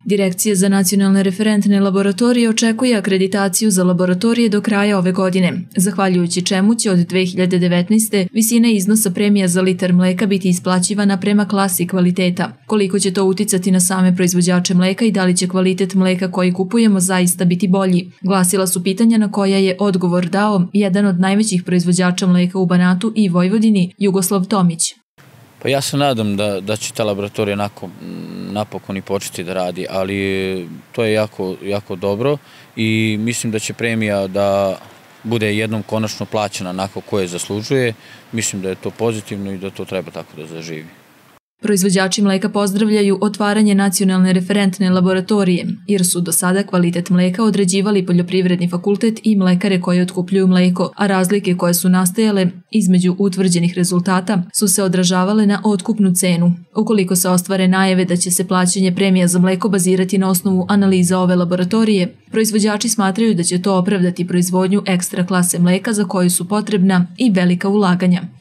Direkcija za nacionalne referentne laboratorije očekuje akreditaciju za laboratorije do kraja ove godine, zahvaljujući čemu će od 2019. visina iznosa premija za litar mleka biti isplaćivana prema klasi kvaliteta. Koliko će to uticati na same proizvođače mleka i da li će kvalitet mleka koji kupujemo zaista biti bolji, glasila su pitanja na koja je odgovor dao jedan od najvećih proizvođača mleka u Banatu i Vojvodini, Jugoslav Tomić. Pa ja se nadam da će ta laboratorija napokon i početi da radi, ali to je jako dobro i mislim da će premija da bude jednom konačno plaćena onako koje zaslužuje. Mislim da je to pozitivno i da to treba tako da zaživi. Proizvođači mleka pozdravljaju otvaranje nacionalne referentne laboratorije, jer su do sada kvalitet mleka određivali Poljoprivredni fakultet i mlekare koje otkupljuju mleko, a razlike koje su nastajale između utvrđenih rezultata su se odražavale na otkupnu cenu. Ukoliko se ostvare najave da će se plaćanje premija za mleko bazirati na osnovu analiza ove laboratorije, proizvođači smatraju da će to opravdati proizvodnju ekstra klase mleka za koju su potrebna i velika ulaganja.